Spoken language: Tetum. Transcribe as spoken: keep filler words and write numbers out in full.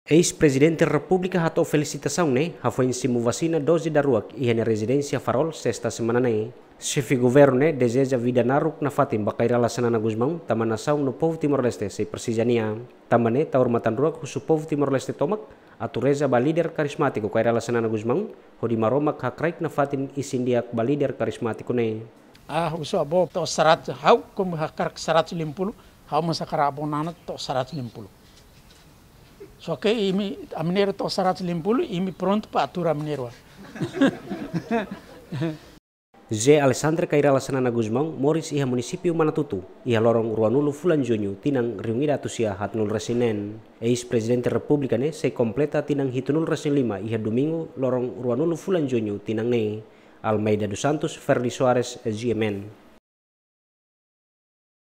Eis-Prezidente Repúblika hato'o felisitasaun ne'e hafoin simu vasina doze daruak iha nia rezidénsia Farol, sesta semana ne'e. Xefe governu ne'e dezeja vida naruk nafatin ba Kay Rala Xanana Gusmão, tanba nasaun no povu Timor-Leste sei presiza nia. Tanba ne'e, tau matan-ruak husu povu Timor-Leste tomak atu reza ba líder karizmátiku Kay Rala Xanana Gusmão, hodi Maromak hakraik nafatin isin di'ak ba líder karizmátiku ne'e. Ah, husu avó to'o seratus, ha'u komu hakarak seratus lima puluh, ha'u mós hakarak avó Nana to'o seratus lima puluh. Só ke imi, ami-nia ero to'o seratus lima puluh, imi prontu para atur ami-nia ero. José Alexandre Kay Rala Xanana Gusmão moris iha munisípiu Manatuto, iha loron ruanulu fulan Juñu tinan rihun ida atus sia haatnulu resin neen. Eis-Prezidente Repúblika ne'e sei kompleta tinan hitunulu resin lima iha Domingu, loron ruanulu fulan Juñu tinan ne'e. Almeida dos Santos, Ferdi Soares, G M N.